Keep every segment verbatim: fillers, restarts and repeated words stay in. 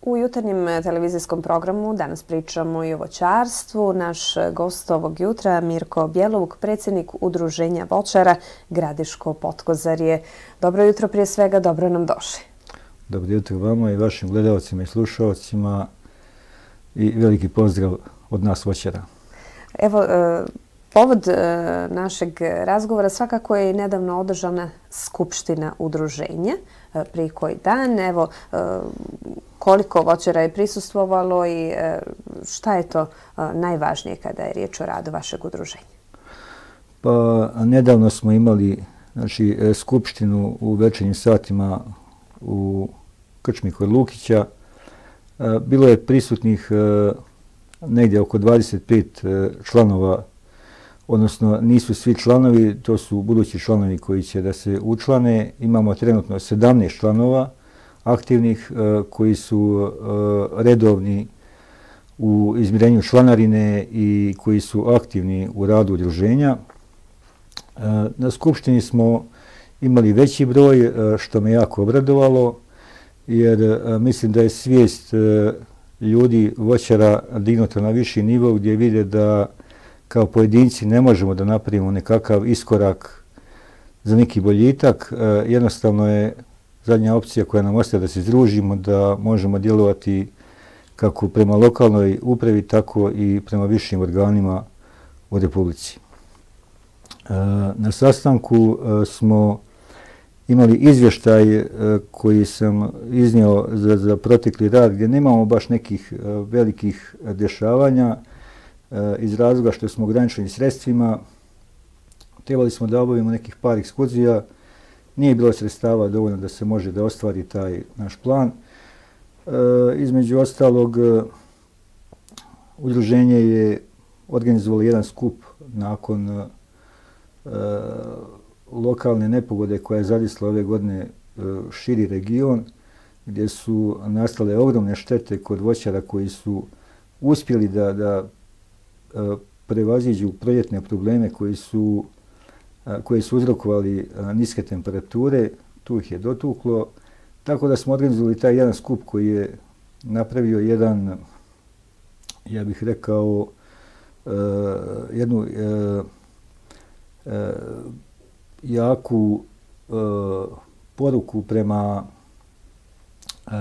U jutarnjem televizijskom programu danas pričamo i o voćarstvu. Naš gost ovog jutra, Mirko Bjelovuk, predsjednik Udruženja voćara Gradiško Potkozarje. Dobro jutro prije svega, dobro nam došli. Dobro jutro vama i vašim gledalcima i slušalcima i veliki pozdrav od nas voćara. Evo, povod našeg razgovora svakako je i nedavno održana skupština udruženja prije koji dan. Evo, koliko voćara je prisustvovalo i šta je to najvažnije kada je riječ o radu vašeg udruženja? Pa, nedavno smo imali znači, skupštinu u večernjim satima u krčmi kod Lukića. Bilo je prisutnih negdje oko dvadeset pet članova, odnosno nisu svi članovi, to su budući članovi koji će da se učlane. Imamo trenutno sedamnaest članova aktivnih koji su redovni u izmirenju članarine i koji su aktivni u radu udruženja. Na skupštini smo imali veći broj, što me jako obradovalo, jer mislim da je svijest ljudi voćara dignuta na viši nivo gdje vide da kao pojedinci ne možemo da napravimo nekakav iskorak za neki boljitak. Jednostavno je zadnja opcija koja nam ostaje da se združimo, da možemo djelovati kako prema lokalnoj upravi, tako i prema višim organima u Republici. Na sastanku smo imali izvještaj koji sam iznio za, za protekli rad gdje nemamo baš nekih velikih dešavanja iz razloga što smo ograničeni sredstvima. Trebali smo da obavimo nekih par ekskurzija. Nije bilo sredstava dovoljno da se može da ostvari taj naš plan. E, između ostalog, udruženje je organizovalo jedan skup nakon e, lokalne nepogode koja je zadesila ove godine e, širi region, gdje su nastale ogromne štete kod voćara koji su uspjeli da, da e, prevaziđu proljetne probleme koji su koje su uzrokovali niske temperature, tu ih je dotuklo. Tako da smo organizovali taj jedan skup koji je napravio jedan, ja bih rekao, jednu jaku poruku prema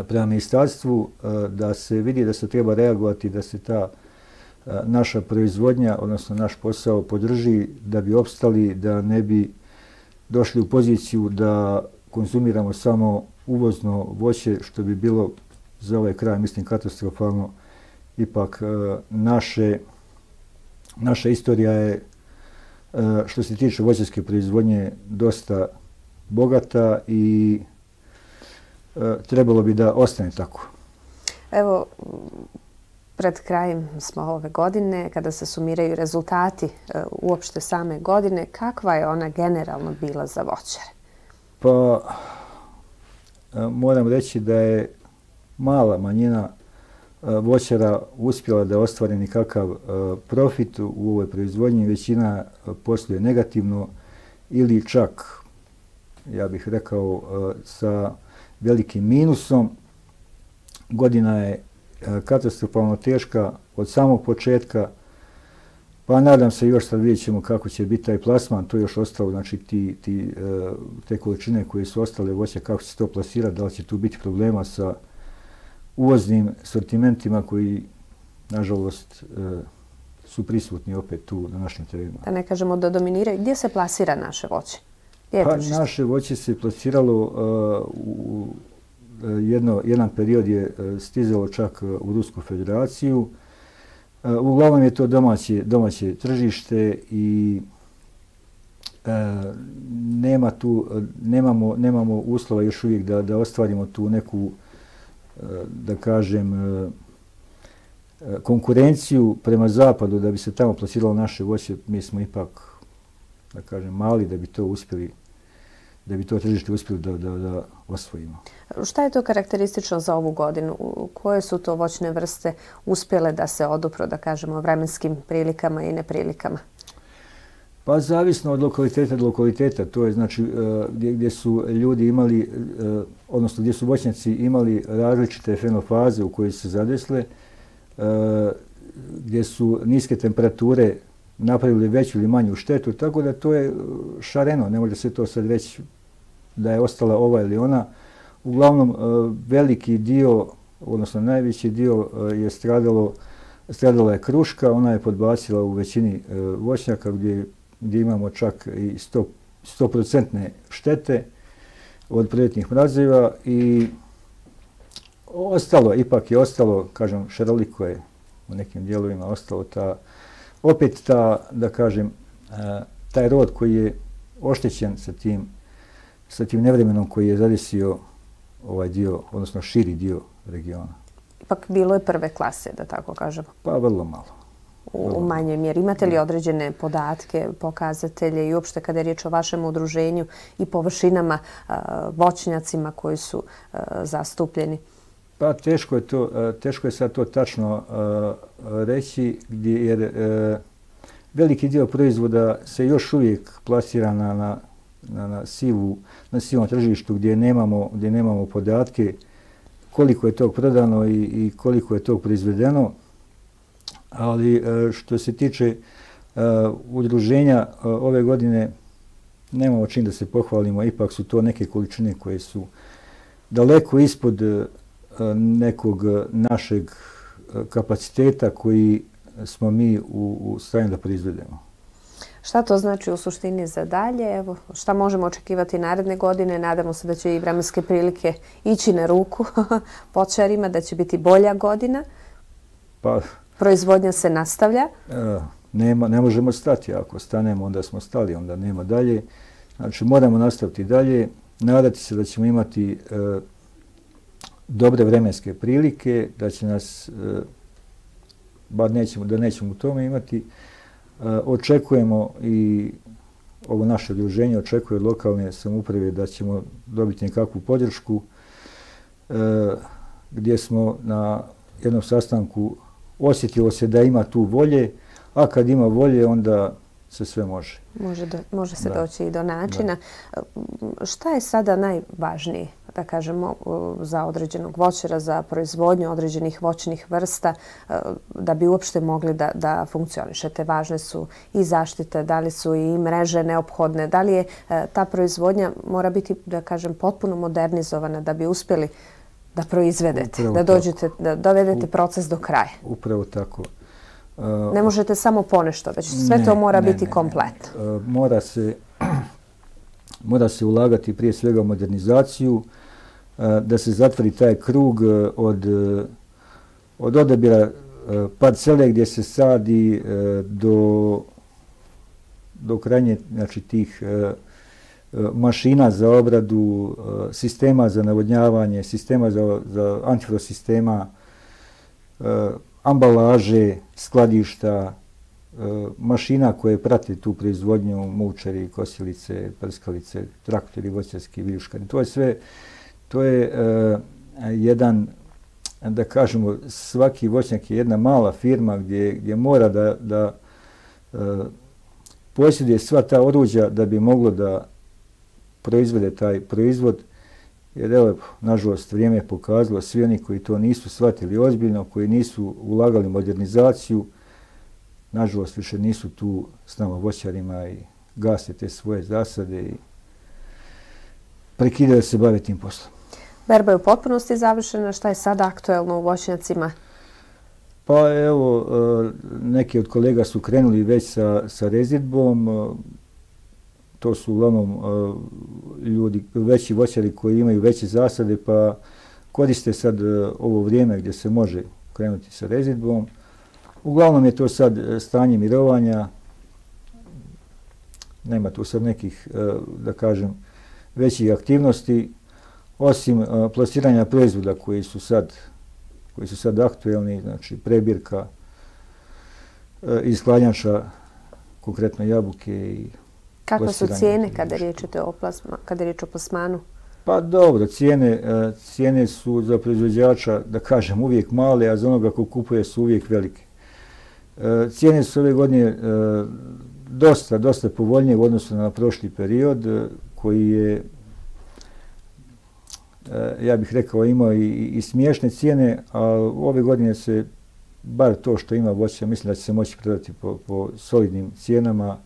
prema ministarstvu da se vidi da se treba reagovati, da se ta naša proizvodnja, odnosno naš posao podrži da bi opstali, da ne bi došli u poziciju da konzumiramo samo uvozno voće, što bi bilo za ovaj kraj, mislim, katastrofalno. Ipak naše, naša istorija je, što se tiče voćarske proizvodnje, dosta bogata i trebalo bi da ostane tako. Evo, pred krajem smo ove godine, kada se sumiraju rezultati uopšte same godine, kakva je ona generalno bila za voćare? Pa, moram reći da je mala manjina voćara uspjela da ostvari nekakav profit u ovoj proizvodnji. Većina posluje negativno ili čak, ja bih rekao, sa velikim minusom. Godina je katastrofalno teška od samog početka, pa nadam se još sad vidjet ćemo kako će biti taj plasman, to je još ostalo, znači ti, ti, te količine koje su ostale voća, kako će se to plasirati, da li će tu biti problema sa uvoznim sortimentima koji, nažalost, su prisutni opet tu na našim terenima. Da ne kažemo da dominiraju. Gdje se plasira naše voće? Pa naše voće se plasiralo u Jedno, jedan period je stizalo čak u Rusku federaciju. Uglavnom je to domaće, domaće tržište i e, nema tu, nemamo, nemamo uslova još uvijek da, da ostvarimo tu neku, da kažem, konkurenciju prema zapadu da bi se tamo plasiralo naše voće. Mi smo ipak, da kažem, mali da bi to uspjeli, da bi to tržište uspjeli da, da, da osvojimo. Šta je to karakteristično za ovu godinu? Koje su to voćne vrste uspjele da se odupru, da kažemo, vremenskim prilikama i neprilikama? Pa zavisno od lokaliteta do lokaliteta, to je znači gdje, gdje su ljudi imali, odnosno gdje su voćnjaci imali različite fenofaze u kojoj se zadesle, gdje su niske temperature napravili veću ili manju štetu, tako da to je šareno, ne može se to sad reći da je ostala ova ili ona. Uglavnom, veliki dio, odnosno najveći dio je stradalo, stradala je kruška, ona je podbacila u većini voćnjaka gdje, gdje imamo čak i sto posto štete od proljetnih mrazeva i ostalo, ipak je ostalo, kažem, šaroliko je u nekim dijelovima ostalo ta, opet ta, da kažem, taj rod koji je oštećen sa tim, sa tim nevremenom koji je zadesio ovaj dio, odnosno širi dio regiona. Ipak bilo je prve klase, da tako kažemo. Pa vrlo malo. U, u manjoj mjeri. Imate li određene podatke, pokazatelje i uopšte kada je riječ o vašem udruženju i površinama, voćnjacima koji su zastupljeni? Pa teško je to, teško je sad to tačno reći, gdje, jer veliki dio proizvoda se još uvijek plasira na, na, na, na, sivu, na sivom tržištu gdje nemamo, gdje nemamo podatke koliko je tog prodano i, i koliko je tog proizvedeno. Ali što se tiče udruženja ove godine, nemamo čim da se pohvalimo, ipak su to neke količine koje su daleko ispod nekog našeg kapaciteta koji smo mi u, u stanju da proizvedemo. Šta to znači u suštini za dalje? Evo, šta možemo očekivati naredne godine? Nadamo se da će i vremenske prilike ići na ruku voćarima, da će biti bolja godina. Pa, proizvodnja se nastavlja? Nema, ne možemo stati. Ako stanemo, onda smo stali, onda nema dalje. Znači, moramo nastaviti dalje, nadati se da ćemo imati e, dobre vremenske prilike, da će nas, e, bar nećemo, da nećemo u tome imati. E, očekujemo i ovo naše udruženje, očekuje od lokalne samouprave da ćemo dobiti nekakvu podršku, e, gdje smo na jednom sastanku osjetilo se da ima tu volje, a kad ima volje, onda se sve može. Može, do, može se da. doći i do načina. Da. Šta je sada najvažnije, da kažemo, za određenog voćara, za proizvodnju određenih voćnih vrsta, da bi uopšte mogli da, da funkcionišete? Važne su i zaštite, da li su i mreže neophodne, da li je ta proizvodnja mora biti, da kažem, potpuno modernizovana da bi uspjeli da proizvedete, upravo da dođete, tako. Da dovedete proces do kraja. Upravo tako. Uh, ne možete samo ponešto, već sve ne, to mora ne, biti ne, komplet. Ne. Uh, mora se, mora se ulagati prije svega u modernizaciju, uh, da se zatvori taj krug uh, od, uh, od odabira uh, parcele gdje se sadi uh, do, do krajnje, znači, tih uh, mašina za obradu, sistema za navodnjavanje, sistema za, za antifrosistema, ambalaže, skladišta, mašina koje prate tu proizvodnju, mučari, kosilice, prskalice, traktori, voćarski, viljuškari. To je sve, to je uh, jedan, da kažemo, svaki voćnjak je jedna mala firma gdje, gdje mora da, da uh, posjeduje sva ta oruđa da bi moglo da proizvede taj proizvod, jer evo, nažalost, vrijeme je pokazalo, svi oni koji to nisu shvatili ozbiljno, koji nisu ulagali modernizaciju, nažalost, više nisu tu s nama voćarima i gase te svoje zasade i prekidaju se bave tim poslom. Berba je u potpunosti završena. Šta je sada aktuelno u voćnjacima? Pa evo, neki od kolega su krenuli već sa, sa rezidbom. To su uglavnom ljudi, veći voćari koji imaju veće zasade, pa koriste sad ovo vrijeme gdje se može krenuti sa rezidbom. Uglavnom je to sad stanje mirovanja. Nema tu sad nekih, da kažem, većih aktivnosti, osim plasiranja proizvoda koji su sad, koji su sad aktuelni, znači prebirka iz hladnjača, konkretno jabuke i kakve su cijene kada je riječ o plasma, kada je riječ o plasmanu? Pa dobro, cijene, cijene su za proizvođača, da kažem, uvijek male, a za onoga ko kupuje su uvijek velike. Cijene su ove godine dosta, dosta povoljnije u odnosu na prošli period koji je, ja bih rekao, imao i, i smiješne cijene, a ove godine se bar to što ima voća, mislim da će se moći prodati po, po solidnim cijenama,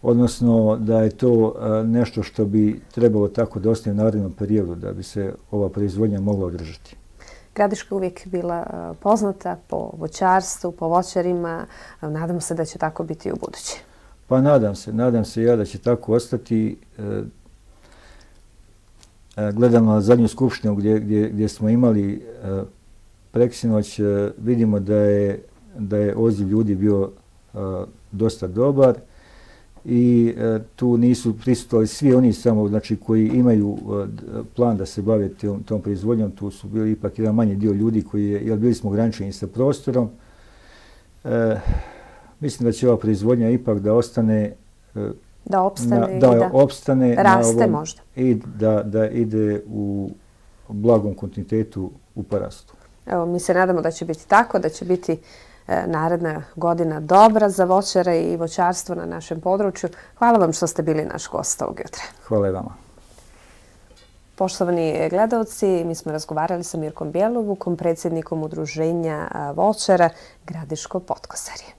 odnosno da je to nešto što bi trebalo tako da ostane u narednom periodu, da bi se ova proizvodnja mogla održati. Gradiška je uvijek bila poznata po voćarstvu, po voćarima. Nadam se da će tako biti i u buduće. Pa nadam se, nadam se ja da će tako ostati. Gledam na zadnju skupštinu gdje, gdje, gdje smo imali preksinoć, vidimo da je, da je odziv ljudi bio dosta dobar i tu nisu prisustvovali svi oni samo, znači, koji imaju plan da se bave tom, tom proizvodnjom. Tu su bili ipak jedan manji dio ljudi koji je, jer bili smo ograničeni sa prostorom. E, mislim da će ova proizvodnja ipak da ostane, da opstane, na, i da, da opstane raste na ovom, možda. I da, da ide u blagom kontinuitetu u porastu. Evo, mi se nadamo da će biti tako, da će biti naredna godina dobra za voćare i voćarstvo na našem području. Hvala vam što ste bili naš gost ovog jutra. Hvala i vama. Poštovani gledalci, mi smo razgovarali sa Mirkom Bjelovukom, predsjednikom Udruženja voćara Gradiško Podkosarje.